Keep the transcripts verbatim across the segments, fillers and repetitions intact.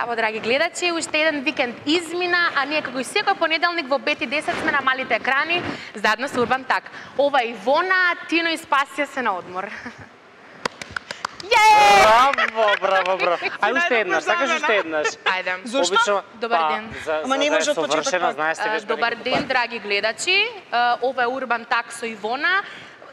Здраво, драги гледачи, уште еден викенд измина, а ние како и секој понеделник во пет и десет сме на малите екрани, заедно со Урбан Так. Ова Ивона, Тино и Спасија се на одмор. Браво, браво, браво. Ај уште еднаш, сакаш уште еднаш. Ајде. Зошто? Добар ден. Ама не може од почеток. Знаеш се Добар ден, драги гледачи. Ова е Урбан Так со Ивона.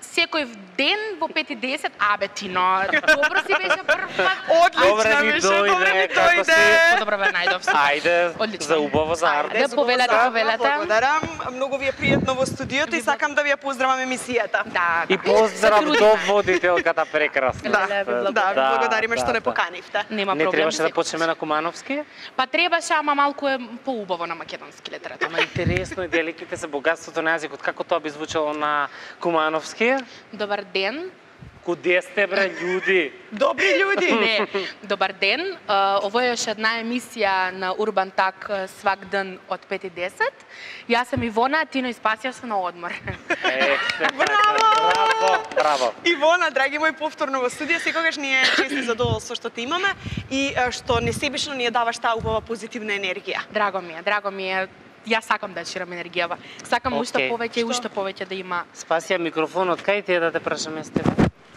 Секој ден во пет и десет, абе Тино, добро си беше прв пат. Одлично беше, добро ми дојде. Добро бе, најдов си. Ајде, за убаво, за арт. Ајде, повелете, повелете. Благодарам, многу ви е пријатно во студиото и сакам да ви ја поздравам емисијата. Да. И поздрав до водителката прекрасна. Да, да, благодариме што не поканивте. Нема Не проблем. требаше да почнеме на Кумановски? Па требаше, ама малку е поубаво на македонски литература. Ама интересно е диалектите се богатството на јазикот. Како тоа би звучало на Кумановски? Добар ден. Куде сте, бре, људи? Добри људи. Не, добар ден. Ово е уште една емисија на Урбан Так свак ден од пет и десет. Јас сум Ивона, Тино и Спасија се на одмор. Е, браво! Браво, браво. Ивона, драги мои, повторно во студија, секогаш ни е чест и задоволство што те имаме и што несебично ни ја даваш таа убава позитивна енергија. Драго ми е, драго ми е. Јас сакам да ширам енергијава. Сакам уште Океј. повеќе и уште повеќе да има. Спасија микрофонот, кај ти е да те прашаме с тебе?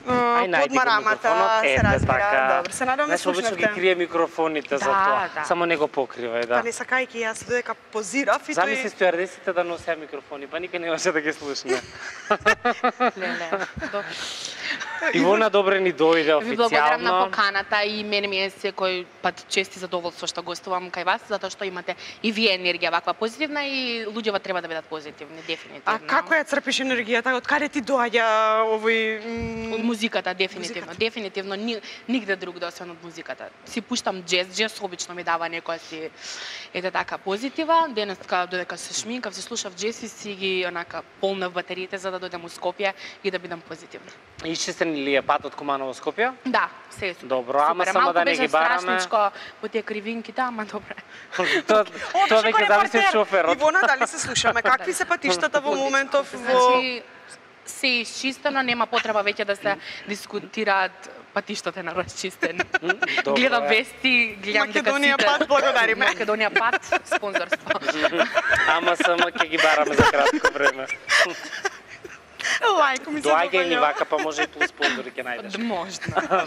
Ај, најди Под го марамата микрофонот. се Ете, разбира. така. Добро, се надам да Знаеш, обично ги слушнавте. крие микрофоните за Да, тоа. да. Само не го покривај, да. Па не сакајќи јас додека позирав и Замисли тој... стюардесите да носеа микрофони, па никој немаше да ги слушне. Леле. Добро. Ивона добре ни дојде Ви благодарам на официјално. поканата и мене ми е секој пат чест и задоволство што гостувам кај вас, затоа што имате и вие енергија ваква позитивна и луѓето треба да бидат позитивни, дефинитивно. А како ја црпиш енергијата? Од каде ти доаѓа овој... Од м, музиката, дефинитивно. Музиката. Дефинитивно, ни, нигде друг освен од музиката. Си пуштам джез, джез обично ми дава некоја си, ете така, позитива. Денеска, додека се шминкав, се слушав джез и си ги, онака, полнав батериите за да дојдем у Скопје и да бидам позитивна. Исчистен ли е патот Куманово Скопје? Да, се е супер. Добро, ама Супер. само Малку да не беше ги бараме. страшничко по тие кривинките, ама добре. Тоа тоа Одлично, веќе зависи од репортер. шоферот. Ивона, дали се слушаме? Какви се патиштата во моментов во... Значи, се е изчистено, нема потреба веќе да се дискутираат патиштата на расчистени. Добро Гледам е. вести, гледам дека Македонија сите... пат, благодариме. Македонија пат, спонзорство. Ама само ќе ги бараме за кратко време. Лајко ми се Доаѓај ни допаѓа. вака, па може и плюс спонзори ќе најдеш. Можна.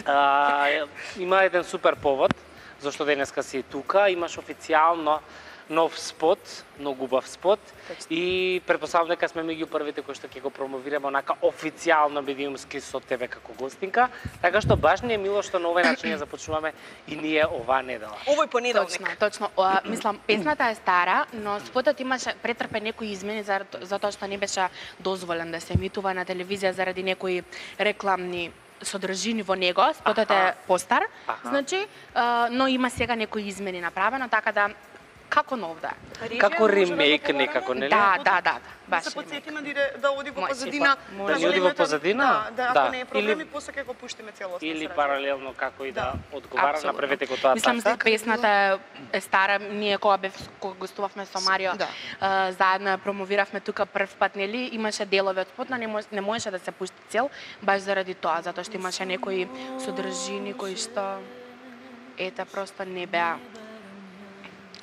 А, има еден супер повод, зашто денеска си тука. Имаш официјално нов спот, многу убав спот. И претпоставам дека сме меѓу првите кои што ќе го промовираме онака официјално медиумски со тебе како гостинка. Така што баш ни е мило што на овој начин ја започнуваме и ние оваа недела. Овој понеделник. Точно, точно. О, мислам, песната е стара, но спотот имаше претрпе некои измени за- затоа што не беше дозволен да се емитува на телевизија заради некои рекламни содржини во него. Спотот е Аха. постар, Аха. значи, а, но има сега некои измени направено, така да како нов да е. Како ремейк некако, нели? Да, да, да, да, Да баш се ремейк. подсетиме дире да оди во Мој си, позадина. па, може. Да ни оди во позадина? Да, да, Да. ако не е проблем, Или- и после ќе го пуштиме целосно. Или се разбира. паралелно како и да одговара, Апсолутно. направете го тоа Мислам, така. дека песната е стара, ние кога бев кога гостувавме со Марио, Да. а, заедно ја промовиравме тука прв пат, нели, имаше делови од спот, но не може, не можеше да се пушти цел, баш заради тоа, затоа што имаше некои содржини кои што ета просто не беа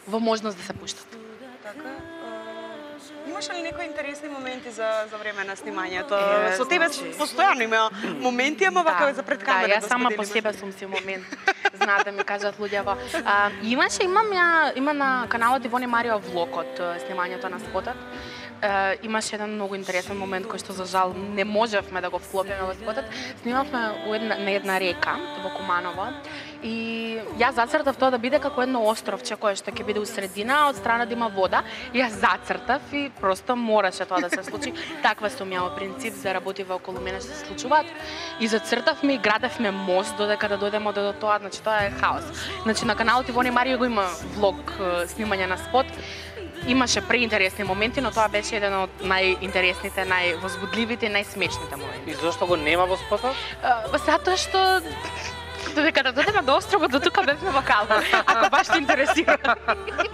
во можност да се пуштат. Така. а, Имаше ли некои интересни моменти за за време на снимањето? Е, Со тебе значи- постојано има моменти, ама вака за пред камера Да, јас да сама по споделиме. себе сум си момент. Знаат да ми кажат луѓето. А, имаше, имам ја, има на каналот Ивоне Марио влог од а, снимањето на спотот. Uh, имаше еден многу интересен момент кој што за жал не можевме да го вклопиме во спотот. Снимавме у една, на една река во Куманово и јас зацртав тоа да биде како едно островче кое што ќе биде у средина, а од страна да има вода. И јас зацртав и просто мораше тоа да се случи. Таква сум ја во принцип за работи околу мене што се случуваат. И зацртавме и градевме мост додека да дојдеме до тоа, значи тоа е хаос. Значи на каналот Ивоне Марио го има влог е, снимање на спот. Имаше преинтересни моменти, но тоа беше еден од најинтересните, највозбудливите и најсмешните моменти. И зошто го нема во спотот? Uh, затоа што Додека да додеме до островот, до тука бевме во Калфа, ако баш те интересира.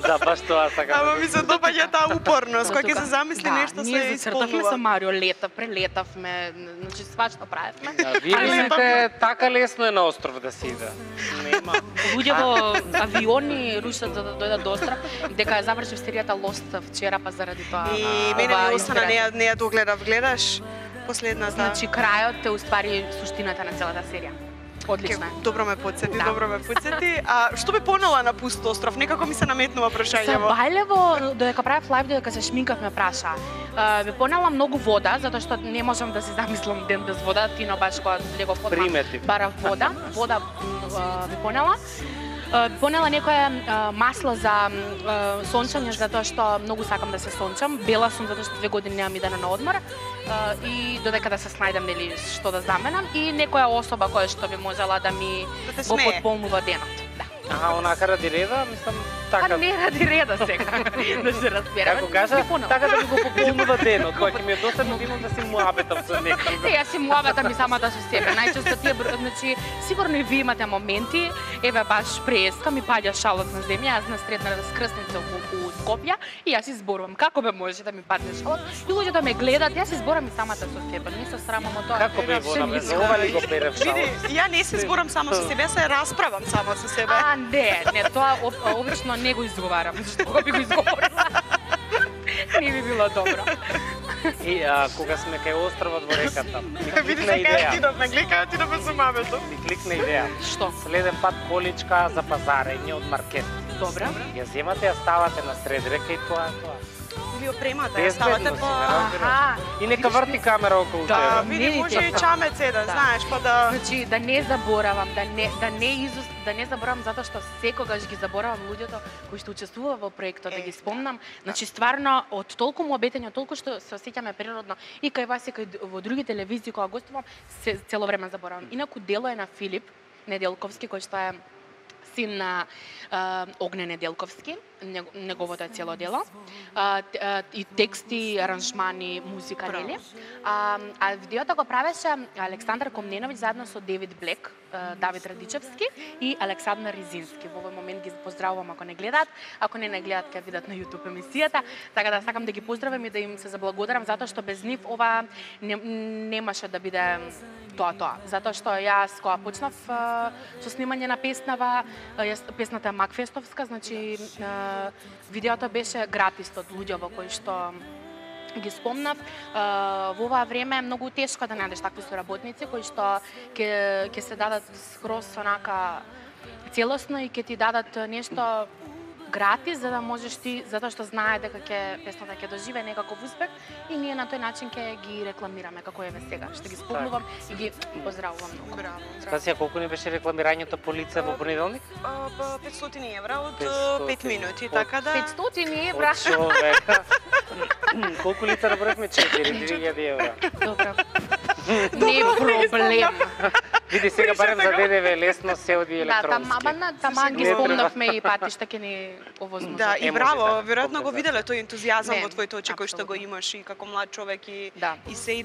Да, баш тоа сакам. Ама ми се допаѓа таа упорност, кога ќе се замисли да, нешто се ние зацртавме со исполнува. Марио, лета, прелетавме, значи свашто правевме. Да, вие мислите така лесно е на остров да се иде. Нема. Луѓе во авиони рушат за да дојдат до остров, дека ја завршив серијата Lost вчера, па заради тоа. И мене ова ми остана, не инспирација. ја, не ја догледав, гледаш последната. Значи крајот е уствари суштината на целата серија. Одлично е. Ке- Добро ме подсети, Да. добро ме подсети. А што бе понела на пуст остров? Некако ми се наметнува прашањево. Сабајлево, додека правев лајв, додека се шминкав, ме праша. А, Ме понела многу вода, затоа што не можам да си замислам ден без вода, тино баш кога легов одма Приметив. барав вода. Вода а, ви понела. А, ви понела некое а, масло за а, сончање, затоа што многу сакам да се сончам. Бела сум затоа што две години немам идене на одмор. А, и додека да се снајдам нели што да заменам и некоја особа која што би можела да ми Да те го смее. потполнува денот. Да. Аха, онака ради реда, мислам Па така. не ради реда сега, да се разбереме. Како кажа, Ви понела. така да ми го пополнува денот, кој ќе ми е досадно денот да си муабетам со некој. Е, јас си муабетам и самата со себе. Најчесто тие, бр- значи, сигурно и вие имате моменти, еве баш преска ми паѓа шалот на земја, јас на средна раскрсница у, у Скопје и јас изборувам како бе може да ми падне шалот. И луѓето ме гледат, јас изборам и самата со себе. Не се срамам од тоа. Како би Ше вона ми без искам. ова ли го берев Види, шалот? ја не се зборам само со себе, се расправам само со себе. А, не, не, тоа об- обично не го изговарам, зашто кога би го изговорила. Не би било добро. И а, кога сме кај островот во реката, ми Види кликна се кај идеја. отидовме, гледа кај отидовме со мамето. Ми кликна идеја. Што? Следен пат количка за пазарење од маркет. Добро. Ја земате, ја ставате на сред река и тоа е тоа. Или опремата, ја Безбедно ставате си, по... ме разбираш. Аха. И нека врти камера околу Да, тебе. види, Видите, може и да. чамец еден, Да. знаеш, па да... Значи да не заборавам, да не да не изус, да не заборавам затоа што секогаш ги заборавам луѓето кои што учествува во проектот, да Е, ги спомнам. Значи стварно од толку му обетања, толку што се осеќаме природно и кај вас и кај д- во други телевизии кога гостувам, се цело време заборавам. Инаку дело е на Филип Неделковски кој што е син на а, Огне Неделковски, него- неговото е цело дело. А, т- а, и тексти, аранжмани, музика, Браво. нели? А, а видеото го правеше Александар Комненовиќ заедно со Девид Блек, а, Давид Радичевски и Александар Ризински. Во овој момент ги поздравувам ако не гледаат, ако не не гледаат ќе видат на YouTube емисијата, така да сакам да ги поздравам и да им се заблагодарам затоа што без нив ова не, немаше да биде тоа тоа. Затоа што јас кога почнав а, со снимање на песнава, а, јас песната е Макфестовска, значи а, видеото беше гратис од луѓе во кои што ги спомнав. А, во ова време е многу тешко да најдеш такви соработници кои што ќе ќе се дадат скроз онака целосно и ќе ти дадат нешто гратис за да можеш ти, затоа што знае дека ќе песната ќе доживее некаков успех и ние на тој начин ќе ги рекламираме како еве сега. Што ги спомнувам и ги поздравувам многу. Браво, браво. Стасија, колку не беше рекламирањето по лице во понеделник? А, па петстотини евра од петстотини. пет минути, Од така да... петстотини евра. Од човека. Колку лица набравме? четири илјади евра. Добро. Не проблем. Види сега барем за ДДВ лесно се оди Да, тама, електронски. ама на- тама ги Не спомнавме и патишта ќе ни овозможат. Да, Е, и може браво, така, веројатно го показа. виделе тој ентузијазам Не, во твоите очи кој што го апсолутно. имаш и како млад човек и Да. и се и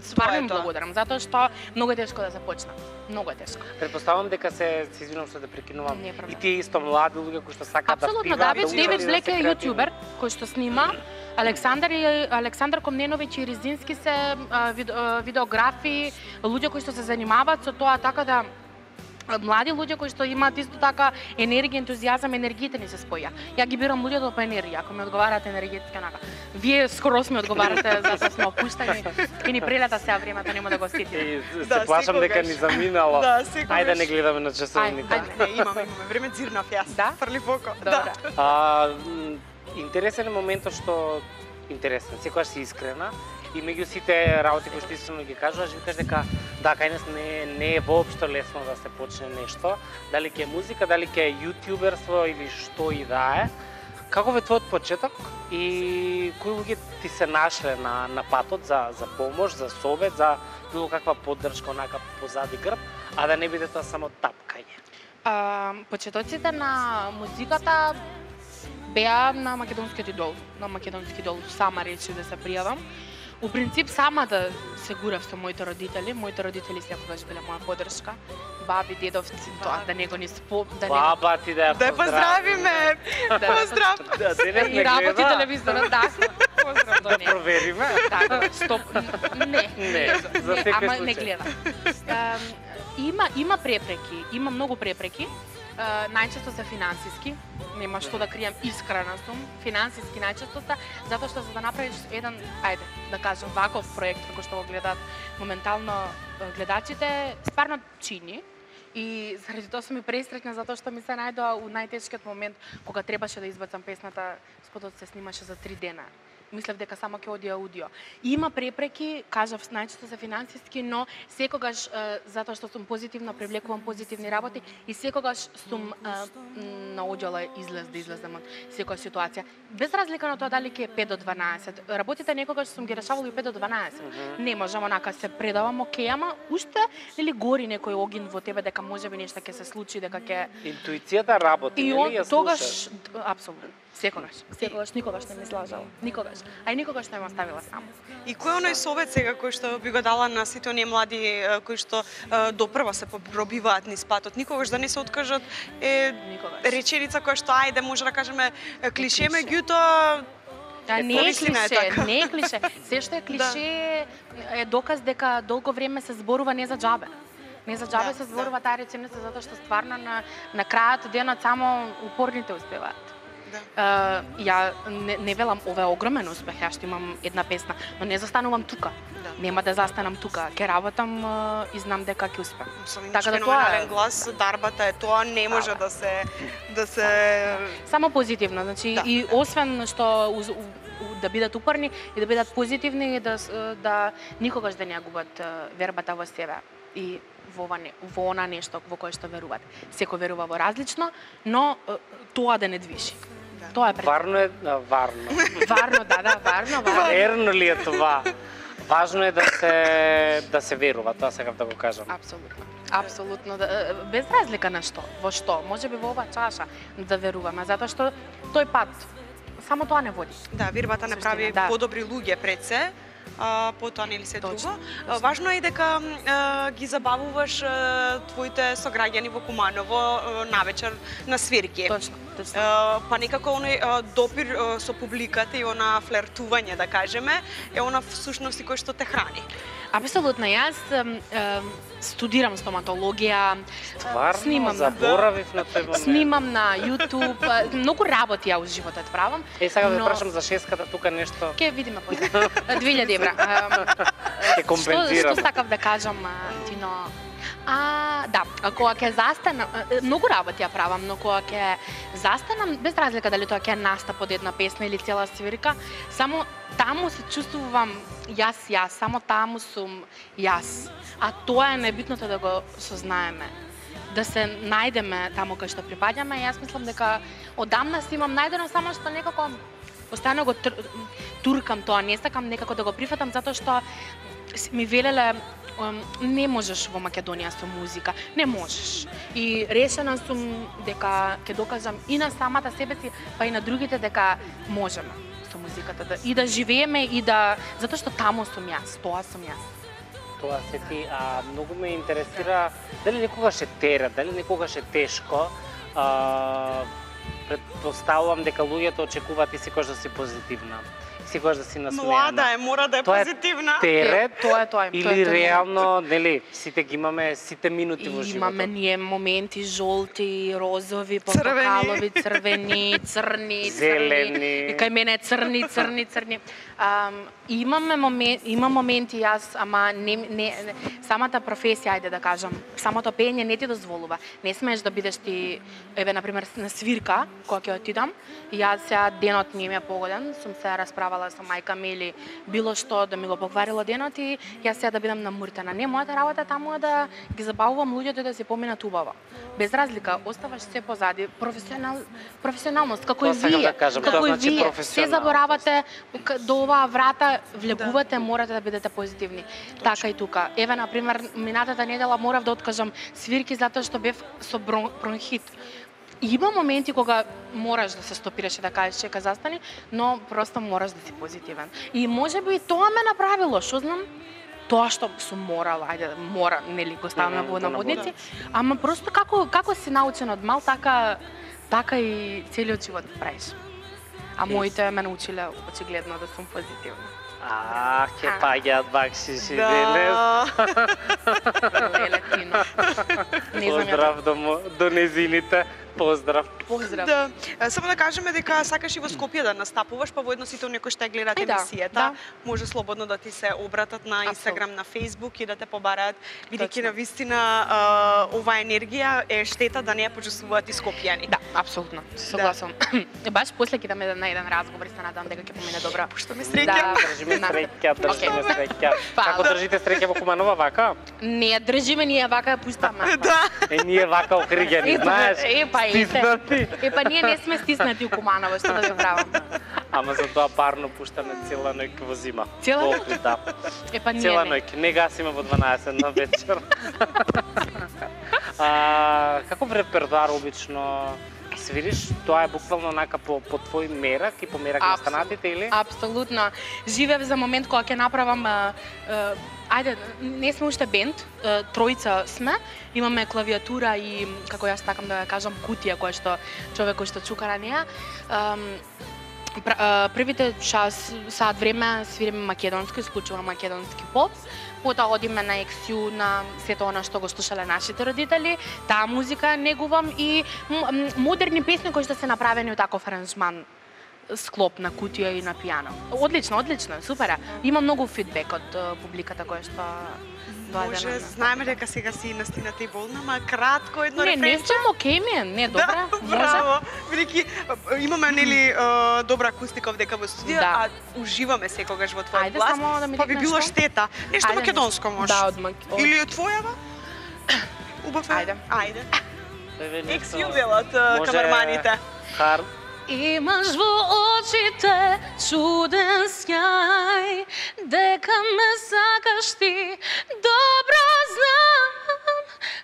Стварно им тоа. благодарам, затоа што многу е тешко да започнам. Многу е тешко. Предпоставам дека се се извинувам што да прекинувам. Не е проблем. И тие исто млади луѓе кои што сакаат да Апсолутно, пиваат, Давид, да учат Девид и да Блек се е креативни. јутјубер кој што снима. Александар и Александар Комненовиќ и Ризински се а, вид- а, видеографи, луѓе кои што се занимаваат со тоа, така да а, млади луѓе кои што имаат исто така енергија, ентузијазам, енергиите ни се споја. Ја ги бирам луѓето по енергија, ако ми одговарат енергетски онака. Вие скрос ми одговарате за да сме опуштени и ни прелета сега времето, нема да го сетиме. И се Да, плашам дека секогаш. ни заминало. Да, секогаш. Ајде да не гледаме на Ајде, часовните. ајде. не, имаме, имаме време дзирнав јас. Да? Фрли око. Добра. Да. А, м, интересен е моментот што интересен, секогаш си искрена и меѓу сите работи кои што искрено ги кажуваш, викаш дека да, кај нас не, не е воопшто лесно да се почне нешто, дали ќе е музика, дали ќе е јутјуберство или што и да е. Каков е твојот почеток и кои луѓе ти се нашле на, на патот за, за помош, за совет, за било каква поддршка онака позади грб, а да не биде тоа само тапкање? А, почетоците на музиката беа на македонскиот идол. На македонски идол сама речи да се пријавам. У принцип сама да се гурав со моите родители, моите родители секогаш биле моја поддршка. Баби, дедовци, тоа да него ни спо, да него Баба ти да ја Да ја поздравиме. Да, Поздрав. Да, денес и не работи гледа. телевизорот, да. Поздрав до Да него. провериме. Така, стоп. Не, Не, за не, секој ама случај. не гледа. Ам, има има препреки, има многу препреки. Uh, најчесто се финансиски, нема што да кријам, искрена сум, финансиски најчесто се, затоа што за да направиш еден, ајде, да кажам, ваков проект, како што го гледаат моментално uh, гледачите, стварно чини. И заради тоа сум и пресреќна, затоа што ми се најдоа у најтешкиот момент, кога требаше да избацам песната, спотот се снимаше за три дена. Мислев дека само ќе оди аудио. Има препреки, кажав, најчесто се финансиски, но секогаш, е, затоа што сум позитивна, привлекувам позитивни работи и секогаш сум е, наоѓала излез да излезам од секоја ситуација. Без разлика на тоа дали ќе е пет до дванаесет. Работите некогаш сум ги решавала и пет до дванаесет. Mm -hmm. Не можам онака се предавам, окей, ама уште нели гори некој огин во тебе дека можеби нешто ќе се случи, дека ќе Интуицијата работи, и нели он, ја тогаш слушаш? апсолутно. Секогаш, секогаш, никогаш не ме слажала. Никогаш. А и никогаш не ме оставила само. И кој е оној совет сега кој што би го дала на сите оние млади е, кои што е, допрва се пробиваат низ патот, никогаш да не се откажат, е Никогаш. реченица која што ајде може да кажеме е, клише, клише. меѓутоа А не е повислина е клише, така. не е клише. Се што е клише е доказ дека долго време се зборува не за џабе. Не за џабе Да, се зборува таа реченица затоа што стварно на на крајот од денот само упорните успеваат. Да. Uh, ја не, не велам ова е огромен успех, ја што имам една песна, но не застанувам тука. Да. Нема да застанам тука. Ќе работам uh, и знам дека ќе успеам. Со Така да тоа феноменален е- глас, дарбата е тоа, не може да се да се Само позитивно, значи Да. и освен што уз, у, у, да бидат упорни и да бидат позитивни и да с- да никогаш да не ја губат е, вербата во себе и во ова не, во она нешто во кое што веруваат. Секој верува во различно, но е, тоа да не движи. Да. Тоа е пред... Варно е, а, варно. Варно, да, да, варно, варно. Верно ли е това? Важно е да се да се верува, тоа сакав да го кажам. Апсолутно. Апсолутно, да, е, без разлика на што, во што, можеби во оваа чаша да веруваме, затоа што тој пат само тоа не води. Да, вербата не Суштина, прави да. подобри луѓе пред се. А, потоа нели се Точно, друго. А, точно. Важно е дека а, ги забавуваш а, твоите сограѓани во Куманово а, навечер на свирки. Точно, точно. А, па некако оној а, допир а, со публиката и она флертување, да кажеме, е она всушност и кој што те храни. Апсолутно, јас ем, ем, студирам стоматологија, Стварно, снимам, заборавив на тој момент. снимам на YouTube, е, многу работи ја у животот правам. Е, сега да но- прашам за шеската тука нешто. Ке видиме после. две илјади евра. Ем, Ќе компензирам. Што, што сакав да кажам, а, Тино? А, да, а кога ќе застанам, е, многу работи ја правам, но кога ќе застанам, без разлика дали тоа ќе е настап од една песна или цела свирка, само таму се чувствувам јас, јас, само таму сум јас. А тоа е најбитното да го сознаеме. Да се најдеме таму кај што припаѓаме. Јас мислам дека одамна си имам најдено, само што некако постојано го тр- туркам тоа, не сакам некако да го прифатам затоа што с- ми велеле ем, не можеш во Македонија со музика, не можеш. И решена сум дека ќе докажам и на самата себе си, па и на другите дека можеме со музиката да и да живееме и да затоа што таму сум јас, тоа сум јас. Тоа се ти, а многу ме интересира дали некогаш е терет, дали некогаш е тешко. А, предпоставувам дека луѓето очекуваат и секогаш да си позитивна. Секогаш да си насмеана. Млада е, мора да е Тоа е позитивна. терет Тоа е тоа. или тоа е тоа. реално, нели, сите ги имаме сите минути во И животот. имаме ние моменти жолти, розови, Црвени. портокалови, црвени, црни, Зелени. црни. И кај мене е црни, црни, црни. Ам, имаме момент, има моменти јас, ама не, не, не самата професија, ајде да кажам, самото пеење не ти дозволува. Не смееш да бидеш ти, еве на пример на свирка, кога ќе отидам, и јас сега денот не ми е погоден, сум се расправала со мајка ми или било што да ми го покварило денот и јас сега да бидам намуртена. Не, мојата работа таму е да ги забавувам луѓето и да се поминат убаво. Без разлика, оставаш се позади, професионал, професионалност, како Тоа и сакам вие, да кажам, како тоа и значи вие, се професионалност. заборавате к- до оваа врата, влегувате, морате да бидете позитивни. Така и тука. Еве, на пример, минатата недела морав да откажам свирки затоа што бев со брон, бронхит. има моменти кога мораш да се стопираш и да кажеш чека застани, но просто мораш да си позитивен. И можеби тоа ме направило, што знам, тоа што сум морала, ајде, мора, нели го ставаме во наводници, ама просто како како си научен од мал, така така и целиот живот правиш. А моите ме научиле очигледно да сум позитивна. А, ке паѓаат бакшиши денес. Леле, Тино. Не знам ја. Поздрав до, мо- до незините. Поздрав. Поздрав. Да, е, само да кажеме дека сакаш и во Скопје да настапуваш, па воедно сите оние кои што ја гледаат Е, да, емисијата, да. може слободно да ти се обратат на Инстаграм, на Фејсбук и да те побараат, бидејќи Точно. на вистина а, оваа енергија е штета да не ја почувствуваат и скопјани. Да, апсолутно. Се согласувам. Баш после ќе идеме на еден разговор и се надам дека ќе помине добро. Што ме среќа. Да. Држиме среќа, држиме Окей. среќа. Фала. Како држите среќа во Куманова вака? Не, држиме ние вака ја пуштаме. Да. Е, ние вака окригени, Ето, знаеш, е, па, ете. стиснати. Епа ние не сме стиснати у Куманово, што да ви правам. Ама за тоа парно пуштаме цела ноќ во зима. Цела Во ноќ? Охрид, да. Епа ние Цела не. ноќ, не гасиме во дванаесет на вечер. А, каков репертоар обично свириш? Тоа е буквално онака по, по твој мерак и по мерак на Апсолутно. станатите или? Апсолутно. Живеев за момент кога ќе направам а, а, ајде, не сме уште бенд, а, тројца сме, имаме клавиатура и како јас такам да ја кажам кутија која што човек кој што чука на неа. Ам, пр- а, првите час саат време свириме македонски, исклучува македонски поп. Потоа одиме на ексиу на сето она што го слушале нашите родители, таа музика негувам и м- м- модерни песни кои што се направени од таков аранжман склоп на кутија и на пијано. Одлично, одлично, супер е. Има многу фидбек од е, публиката која што доаѓа Може, на- знаеме дека сега си настината и болна, ма кратко едно Не, не рефренче. сум окей ми е, не, добра, Да, може. браво. Бидејќи а, имаме нели а, добра акустика овдека во студио, Да. а уживаме секогаш во твојот Ајде глас. само да ми Па би тикнеш било што? штета. Нешто Ајде, македонско може. Да, од Мак... од- Или од твојава? Убав е. Ајде. Ајде. Еве нешто- Ексјубелот Може- камерманите. Хар... Имаш во очите чуден сјај, дека ме сакаш ти, добро знам,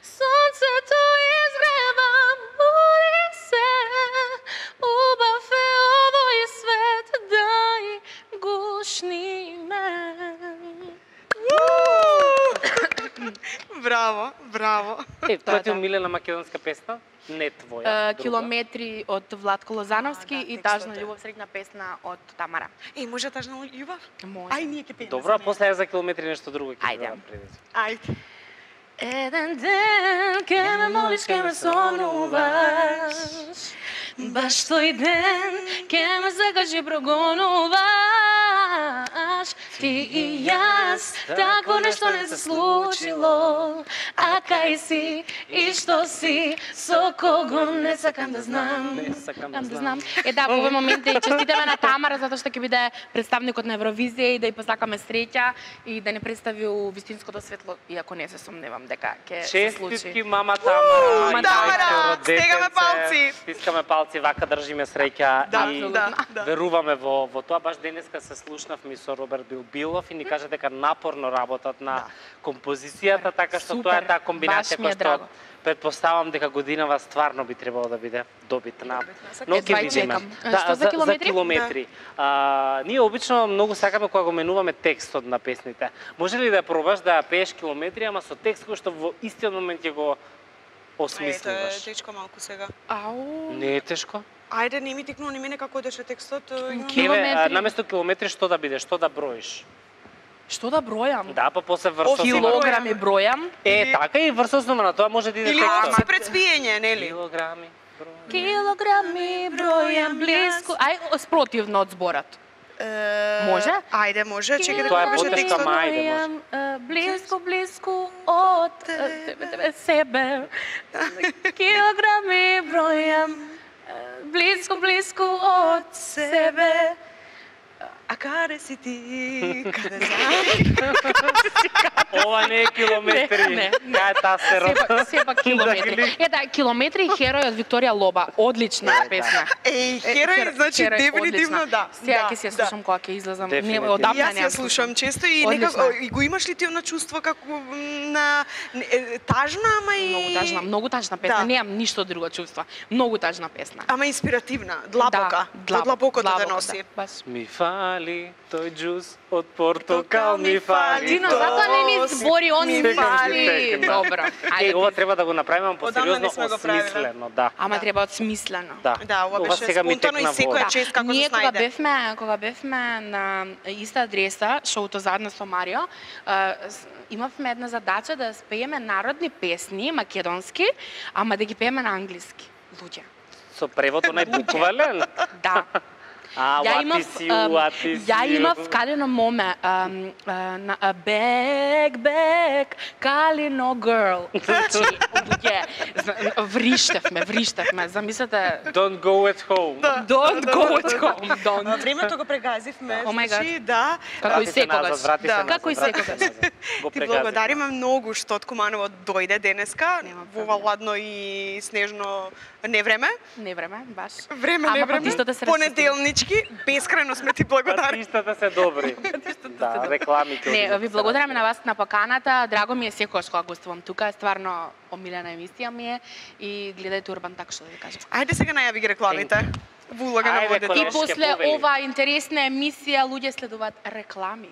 сонцето изгрева, буди се, убав е овој свет, дај гушни ме. Браво, браво. Е, Да, тоа ти е да. умилена македонска песна? Не твоја. Е, друга. Километри од Владко Лозановски А, да, и текстот Тажна е. љубов, среќна песна од Тамара. Е, може тажна љубов? Може. Ај, ние ќе пееме. Добро, за а неа. после ја за километри нешто друго ќе Ајде. пробам преди. Ајде. Еден ден ке ме молиш, ке ме сонуваш, баш тој ден ке ме закажи прогонуваш. Ти и јас, тако нешто не се случило, а кај си и што си, со кого не сакам да знам. Не сакам да Сакам да знам. знам. Е, да, во овој момент и честитаме на Тамара затоа што ќе биде представникот на Евровизија и да ја посакаме среќа и да не представи у вистинското светло, иако не се сомневам дека ќе се случи. Честитки, мама Тамара. Мама и Тамара, твоето стегаме детенце. палци. Стискаме палци, вака држиме среќа Да, и да, да. веруваме во, во тоа. Баш денеска се слушнавме со Роберт Билбилов и ни кажа дека напорно работат на композицијата, така што Супер, тоа е таа комбинација баш ми е која што драго. предпоставам дека годинава стварно би требало да биде добитна. Добитна. Но Едва ќе и видиме. чекам. Што за за километри? километри. А, ние обично многу сакаме кога го менуваме текстот на песните. Може ли да ја пробаш да ја пееш километри, ама со текст кој што во истиот момент ќе го Ето е осмислуваш? течко малку сега. Ау. Не е тешко. Ајде, не ми тикну, не мене како одеше текстот. имам- Ки- Еве, а, Километри. наместо километри што да биде, што да броиш? Што да бројам? Да, па после врз основа. Килограми бројам. Е, така и врз основа на тоа може да иде Или текстот. овци пред спиење, нели? Килограми. број. Килограми бројам блиску. Ај, спротивно од зборот. Е, Може? Ајде, може. Чекај да Тоа е покажа потешка текстот. ма- ајде, може. Бројам, е, блиску, блиску од е, тебе, тебе, себе. Килограми бројам, е, блиску, блиску од себе. А каде си ти? Каде си? Ова не е километри. Не, не. Кај е таа серот? Сепак, сепак километри. Ета, километри херој од Викторија Лоба. Одлична песна. Еј, херој, значи Херој, дефинитивно одлична. да. Сега да, ќе се да. слушам кога ќе излезам. Не, Дефинитивно. одамна Јас ја неам слушам често и Одлична. некако и го имаш ли ти она чувство како на е, тажна, ама и Многу тажна, многу тажна песна. Да. Немам ништо друго чувство. Многу тажна песна. ама инспиративна, длабока. Да, Од длабокото те длабоко, носи. Да, баш. Ми фали тој джус од портокал ми фали. Дино, то затоа не ни се- збори, он ми ми фали. фали. Добро. Е, Ајде. ова треба да го направиме Одамна не посериозно сме го правиле. осмислено, да. Ама Да. треба одсмислено. Да, Да, ова беше сега ми спонтано и текна секоја во- чест како Ние се кога снајде. бевме, кога бевме на иста адреса, шоуто заедно со Марио, а, с- имавме една задача да спееме народни песни македонски, ама да ги пееме на англиски. Луѓе. Со превод онај буквален. Да. А, Ја what имав, is you, ам, what is ја you? имав Калино моме, ам, а, на а, Back, back, Калино girl. Значи, луѓе, зна- вриштевме, вриштевме. Замислете, Don't go at home. Да. don't go at home, А, don't. Времето го прегазивме, Oh my значи, да. Како и Врати се назад, секогаш. врати Да. се назад, Како и врати се секогаш. назад. Го Ти прегазивме. благодариме многу што од Куманово дојде денеска Нема во ова проблем. ладно и снежно невреме. Не време, баш. Време, Ама не време. патиштата се Понеделнички, бескрајно сме ти благодарни. Патиштата се добри. Да, рекламите. Не, одиват ви се благодараме разни. на вас на поканата. Драго ми е секогаш кога гостувам тука. Стварно омилена емисија ми е и гледајте Урбан, така што да ви кажам. Ајде сега најави ги рекламите. Во улога на Ајде, водите. И Колешке после повели. ова интересна емисија луѓе следуваат реклами.